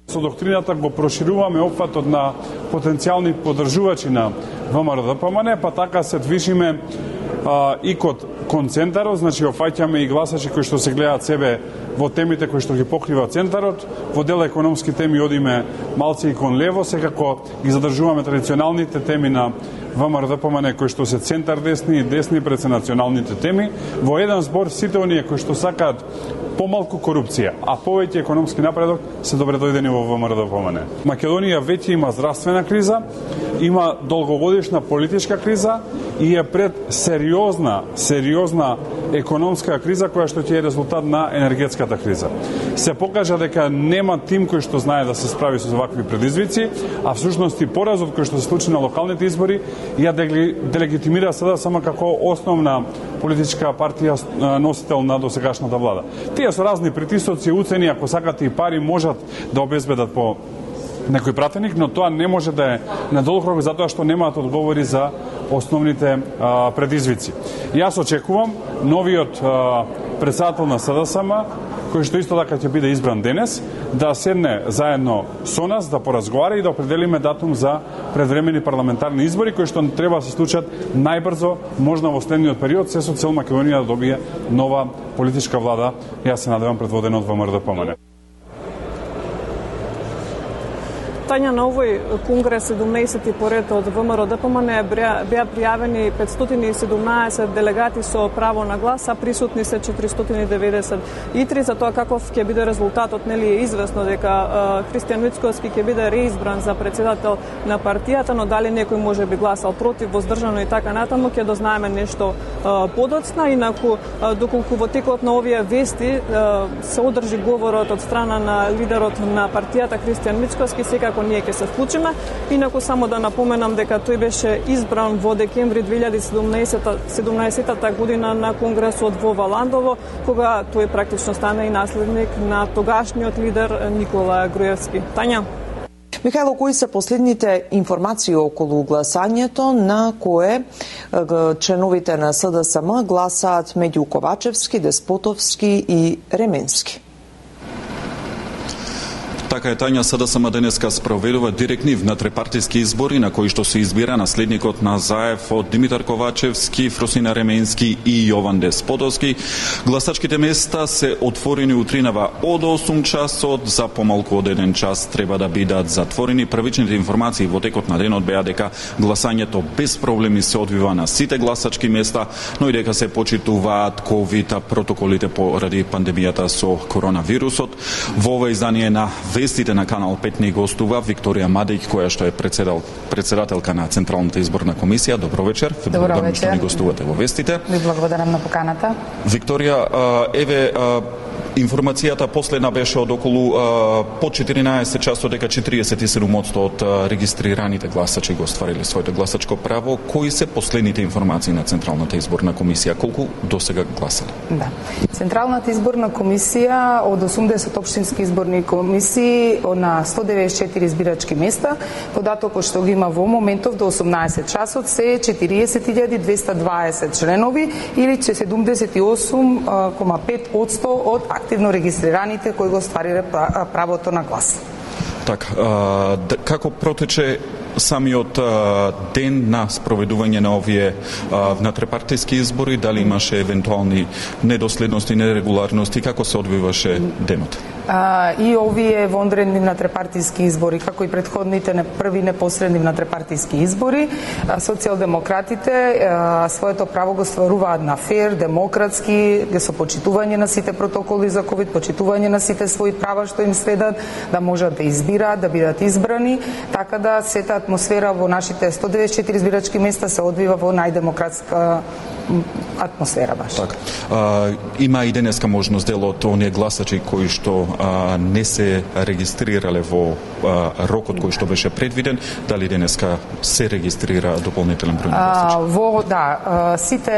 Со доктрината го прошируваме опфатот на потенцијални поддржувачи на ВМРО-ДПМН, па така се движиме и кон центарот, значи офаќаме и гласачи кои што се гледаат себе во темите кои што ги покрива центарот, во дел економски теми одиме малце и кон лево, секако ги задржуваме традиционалните теми на ВМРО-ДПМН кои што се центар десни и десни пред се националните теми. Во еден збор сите оние кои што сакаат помалку корупција, а повеќе економски напредок се добредојдени во ВМРО-ДПМН. Македонија веќе има здравствена криза, има долгогодишна политичка криза и е пред сериозна економска криза која што ќе е резултат на енергетската криза. Се покажа дека нема тим кој што знае да се справи со вакви предизвици, а всушност и поразот кој што се случи на локалните избори ја делегитимира СДСМ како основна политичка партија носител на досегашната влада. Тие со разни притисоци, уцени, ако сакате и пари, можат да обезбедат по некој пратеник, но тоа не може да е на долг рок затоа што немаат одговори за основните предизвици. Јас очекувам новиот председател на СДСМ, кој што исто така ќе биде избран денес, да седне заедно со нас, да поразговара и да определиме датум за предвремени парламентарни избори, кои што треба да се случат најбрзо, можно во следниот период, се со цел Македонија да добие нова политичка влада, јас се надевам предводена од ВМРО-ДПМН. Тања, на овој конгрес 17 поред од ВМРО-ДПМН беа пријавени 517 делегати со право на глас, а присутни се 493. За тоа каков ќе биде резултатот, нели е известно дека Христијан Мицкоски ќе биде реизбран за председател на партијата, но дали некој може би гласал против, воздржано и така натаму, ќе дознаеме нешто подоцна. Инаку, доколку во текот на овие вести се одржи говорот од страна на лидерот на партијата Христијан Мицкоски, секако ние ќе се вклучиме. Инаку само да напоменам дека тој беше избран во декември 2017 година на конгресот во Валандово, кога тој практично стана и наследник на тогашниот лидер Никола Груевски. Тања. Михајло, кои се последните информации околу гласањето на кое членовите на СДСМ гласаат меѓу Ковачевски, Деспотовски и Ременски? Така е, Тања, СДСМ денеска спроведува директни внатрепартиски избори на кои што се избира наследникот на Заев од Димитар Ковачевски, Фросина Ременски и Јован Деспотовски. Гласачките места се отворени утринава од 8 часот, за помалку од 1 час треба да бидат затворени. Првичните информации во текот на денот беа дека гласањето без проблеми се одвива на сите гласачки места, но и дека се почитуваат ковид протоколите поради пандемијата со коронавирусот. Во ова издание на вестите на Канал 5 ни гостува Викторија Мадејќ, која што е председателка на Централната изборна комисија. Добро вечер. Добро вечер. Што ни гостувате во вестите. Ви благодарам на поканата. Викторија, еве информацијата последна беше од околу по 14 часот дека 47% од регистрираните гласачи го оствариле своето гласачко право. Кои се последните информации на Централната изборна комисија? Колку досега гласале? Да. Централната изборна комисија од 80 општински изборни комисии на 194 избирачки места, податокот што ги има во моментов до 18 часот се 40.220 членови или 78,5% од активно регистрираните кои го оствариле правото на глас. Така, како протече самиот ден на спроведување на овие внатрепартиски избори? Дали имаше евентуални недоследности, нерегуларности? Како се одвиваше денот? И овие вонредни внатрепартиски избори, како и претходните први непосредни внатрепартиски избори, социјалдемократите своето право го стваруваат на фер, демократски, со почитување на сите протоколи за ковид, почитување на сите своји права што им следат, да можат да избираат, да бидат избрани, така да сета атмосфера во нашите 194 избирачки места се одвива во најдемократска атмосфера баш. Так. Има и денеска можност дел од оние гласачи кои што не се регистрирале во рокот кој што беше предвиден, дали денеска се регистрира дополнителен број гласачи? Сите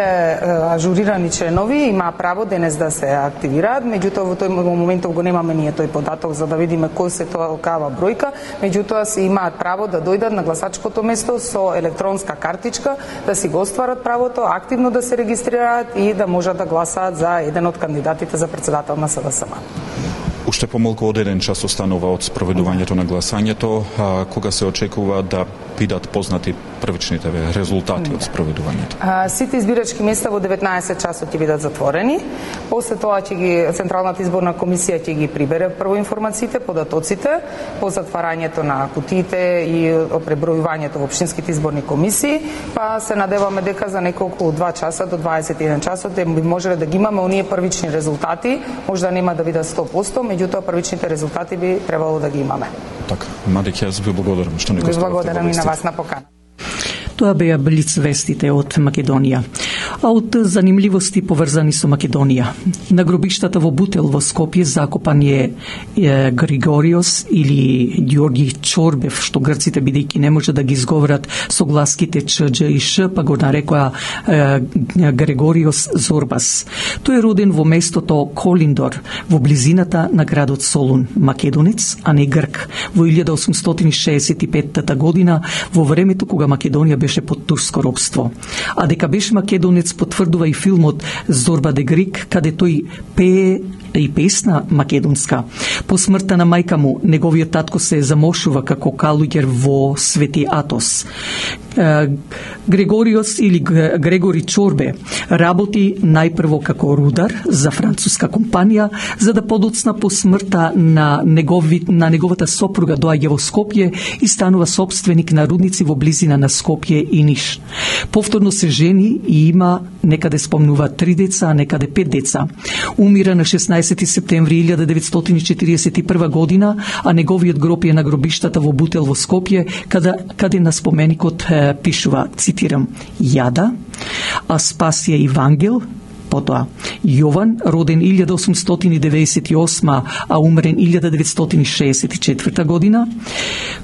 ажурирани членови има право денес да се активираат, меѓутоа во тој моментов го немаме ние тој податок за да видиме кој се толкава бројка, меѓутоа се имаат право да дојдат на гласачкото место со електронска картичка, да си го остварат правото, активно да се регистрираат и да можат да гласаат за еден од кандидатите за председател на СДСМ. уште помалку од 1 час останува од спроведувањето на гласањето, кога се очекува да бидат познати првичните резултати од спроведувањето? Сите избирачки места во 19 часот ќе бидат затворени. После тоа Централната изборна комисија ќе ги прибере прво информациите, податоците, по затварањето на кутиите и пребројувањето во општинските изборни комисии, па се надеваме дека за неколку 2 часа до 21 часот би можеле да ги имаме оние првични резултати, можда нема да бидат 100%, меѓутоа првичните резултати би требало да ги имаме. Така, Мади, јас ви благодарам што не го ставате. Благодарам и на вас на покана. Тоа беа блиц вестите од Македонија. А од занимливости поврзани со Македонија. На гробиштата во Бутел во Скопје закопан е Григориос или Ѓорги Чорбев, што грците бидејќи не може да ги изговорат со гласките Ч, Дж и Ш, па го нарекоа Григориос Зорбас. Тој е роден во местото Колиндор, во близината на градот Солун, македонец, а не грк, во 1865 година, во времето кога Македонија беше под турско робство. А дека беше македонец потврдува и филмот Зорба де Грик, каде тој пее и песна македонска. По смртта на мајка му, неговиот татко се замошува како калуѓер во Свети Атос. Григориос или Грегори Чорбе работи најпрво како рудар за француска компанија, за да подоцна по смртта на неговата сопруга доаѓа во Скопје и станува собственик на рудници во близина на Скопје и Ниш. Повторно се жени и има, некаде спомнува 3 деца, а некаде 5 деца. Умира на 16 септември 1941 година, а неговиот гроб е на гробиштата во Бутел во Скопје, каде на споменикот пишува, цитирам, Јада, Аспасија и Вангел, потоа Јован, роден 1898, а умрен 1964 година,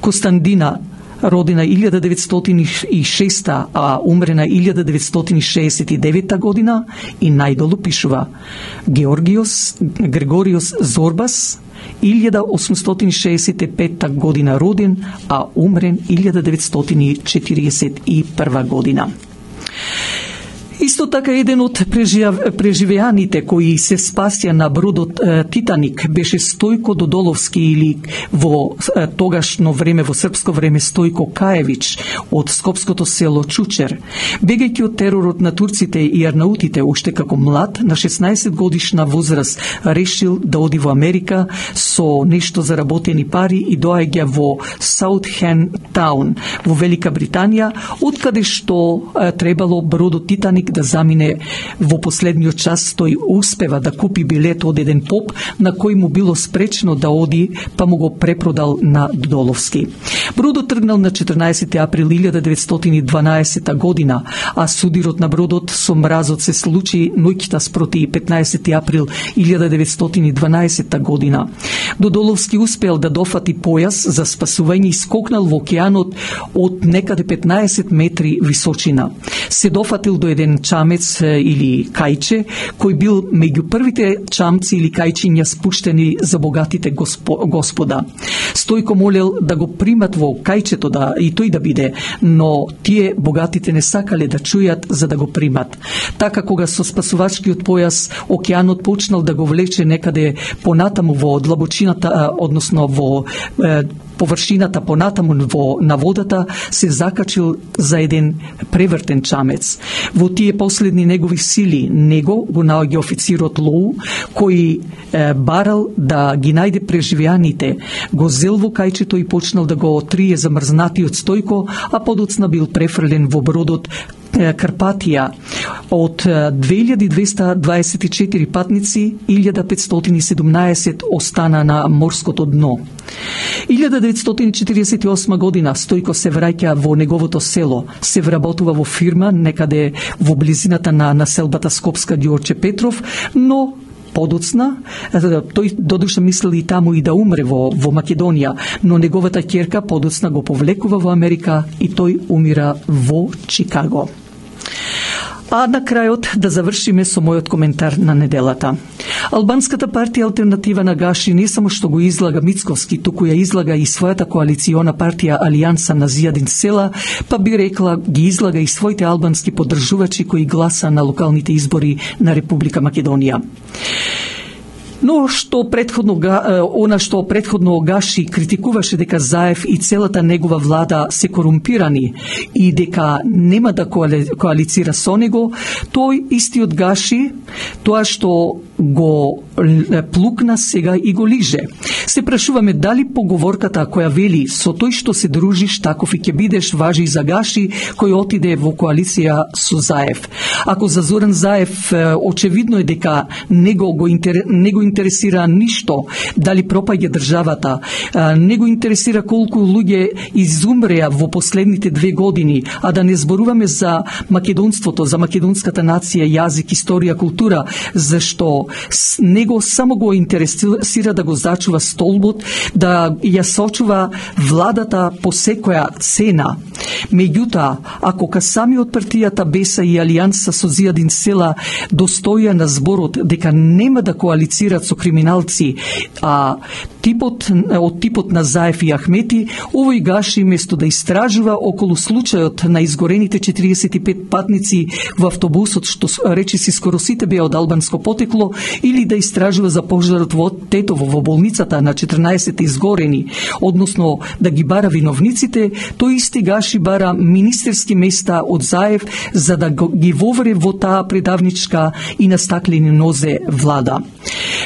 Костандина, родена 1906, а умрена 1969 година, и најдолу пишува Григориос Зорбас, 1865 година роден, а умрен 1941 година. Исто така еден од преживеаните кои се спасија на бродот Титаник беше Стојко Додоловски или во тогашно време, во српско време Стојко Каевич од скопското село Чучер. Бегајќи од теророт на турците и арнаутите, уште како млад, на 16 годишна возраст решил да оди во Америка со нешто заработени пари и доаѓа во Саутхемптаун во Велика Британија, откаде што требало бродот Титаник да замине во последниот час. Тој успева да купи билет од еден поп на кој му било спречено да оди, па му го препродал на Додоловски. Бродот тргнал на 14 април 1912 година, а судирот на бродот со мразот се случи ноќта спроти 15 април 1912 година. Додоловски успел да дофати појас за спасување и скокнал во океанот од некаде 15 метри височина. Се дофатил до еден чамец или кајче, кој бил меѓу првите чамци или кајчиња спуштени за богатите господа. Стојко молел да го примат во кајчето и тој да биде, но тие богатите не сакале да чујат за да го примат. Така кога со спасувачкиот појас океанот почнал да го влече некаде понатаму во длабочината, односно во површината понатаму на водата, се закачил за еден превртен чамец. Во тие последни негови сили него го наоѓа официрот Лоу, кој барал да ги најде преживеаните, го зел во кајчето и почнал да го трие замрзнатиот Стојко, а подоцна бил префрлен во бродот Карпатија. Од 2224 патници, 1517 остана на морското дно. 1948 година Стојко се враќа во неговото село, се вработува во фирма некаде во близината на населбата Скопска Ѓорче Петров, но подоцна, тој додуша мислел и таму и да умре во Македонија, но неговата ќерка подоцна го повлекува во Америка и тој умира во Чикаго. А на крајот да завршиме со мојот коментар на неделата. Албанската партија Алтернатива на Гаши не само што го излага Мицковски, туку ја излага и својата коалициона партија Алијанса на Зијадин Села, па би рекла ги излага и своите албански поддржувачи кои гласа на локалните избори на Република Македонија. Но она што претходно Гаши критикуваше дека Заев и целата негова влада се корумпирани и дека нема да коалицира со него, тој истиот Гаши, тоа што го плукна сега и го лиже. Се прашуваме дали поговорката која вели со тој што се дружиш таков и ќе бидеш важи и за Гаши кој отиде во коалиција со Заев. Ако за Зоран Заев очевидно е дека не го интересира ништо, дали пропаѓа државата, не го интересира колку луѓе изумреа во последните 2 години, а да не зборуваме за македонството, за македонската нација, јазик, историја, култура, зашто него само го интересира да го зачува столбот, да ја сочува владата по секоја цена. Меѓутоа, ако ка самиот партијата Беса и Алијанса со Зијадин Села достоја на зборот дека нема да коалицират со криминалци, а од типот на Заев и Ахмети, овој Гаши место да истражува околу случајот на изгорените 45 патници во автобусот, што речиси скоро сите беа од албанско потекло, или да истражува за пожарот во Тетово во болницата на 14 изгорени, односно да ги бара виновниците, тој исти Гаши бара министерски места од Заев за да ги вовре во таа предавничка и на стаклени нозе влада.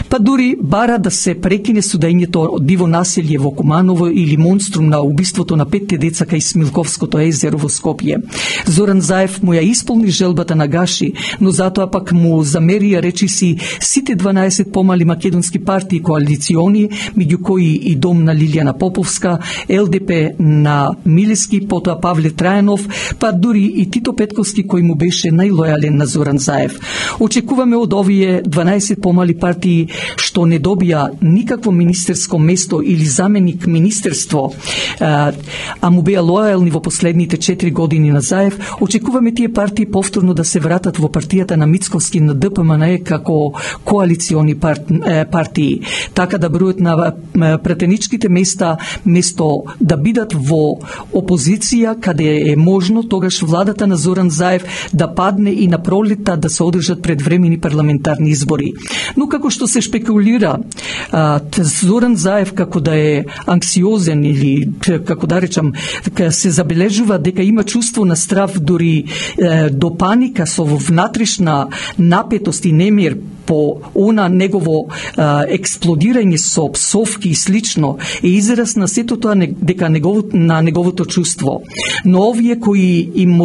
Па дури бара да се прекине судењето од диво населје во Куманово или монструм на убиството на 5 деца кај Смилковското езеро во Скопје. Зоран Заев му ја исполни желбата на Гаши, но затоа пак му замерија речиси сите 12 помали македонски партии коалициони, меѓу кои и Дом на Лилијана Поповска, ЛДП на Милески, потоа Павле Трајанов, па дури и Тито Петковски кој му беше најлојален на Зоран Заев. Очекуваме од овие 12 помали партии што не добија никакво министерско место или заменик министерство, а му беа лојални во последните 4 години на Заев, очекуваме тие партии повторно да се вратат во партијата на Мицковски на ДПМН како коалициони партии, така да бројот на пратеничките места место да бидат во опозиција каде е можно, тогаш владата на Зоран Заев да падне и на пролетта да се одржат предвремени парламентарни избори. Но како што се шпекулира, Зоран Заев како да е анксиозен или како да речам се забележува дека има чувство на страв дури до паника со внатрешна напетост и немир по она негово експлодирање со псовки и слично е израз на сето тоа дека на неговото чувство. Но овие кои им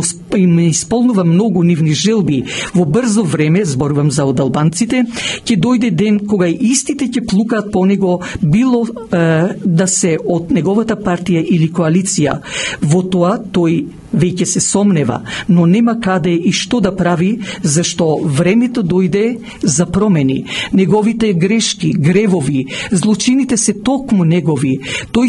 исполнува многу нивни желби во брзо време, зборувам за од албанците, ќе дојде ден кога истите ќе плукаат по него, било да се од неговата партија или коалиција. Во тоа тој веќе се сомнева, но нема каде и што да прави, зашто времето дојде за промени. Неговите грешки, гревови, злочините се токму негови. Тој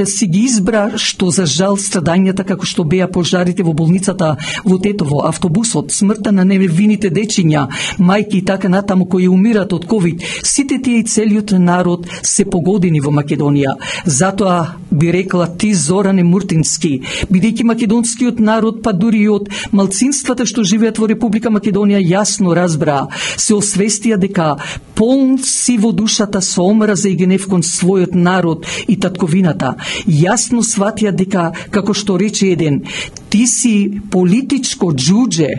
си ги избра што за жал страдањата како што беа пожарите во болницата во Тетово, автобусот, смртта на невините дечиња, мајки и така натаму кои умират од ковид. Сите тие и целиот народ се погодени во Македонија. Затоа би рекла ти, Зоране Муртински, бидејќи македонскиот народ, па дури и од малцинствата што живеат во Република Македонија јасно разбра, се освестија дека полн си во душата со омраза и гнев кон својот народ и татковината. Јасно сватија дека, како што рече еден, ти си политичко џудже.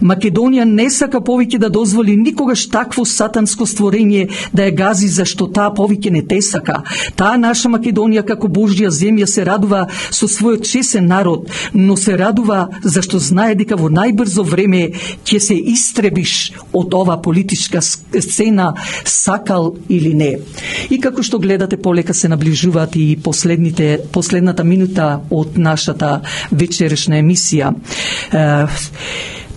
Македонија не сака повеќе да дозволи никогаш такво сатанско створење да ја гази, зашто таа повеќе не те сака. Таа наша Македонија како Божја земја се радува со својот чесен народ, но се радува зашто знае дека во најбрзо време ќе се истребиш од ова политичка сцена, сакал или не. И како што гледате, полека се наближуваат и последната минута од нашата вечерешна емисија.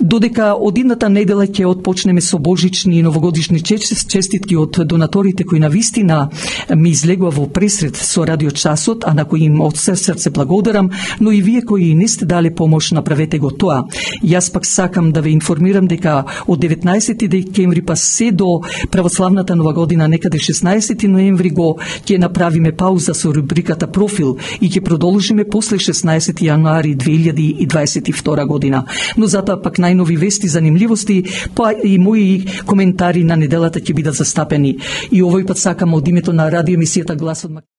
Додека од идната недела ќе отпочнеме со божични и новогодишни честитки од донаторите кои навистина ми излегува во пресред со радиочасот, а на кои им од срце благодарам, но и вие кои не сте дали помош, направете го тоа. Јас пак сакам да ве информирам дека од 19 декември па се до православната нова година, некаде 16 ноември го ќе направиме пауза со рубриката Профил и ќе продолжиме после 16 јануари 2022 година. Но затоа пак најнови вести, занимливости, па и мои коментари на неделата ќе бидат застапени. И овој пат сакам од името на радиоемисијата Гласот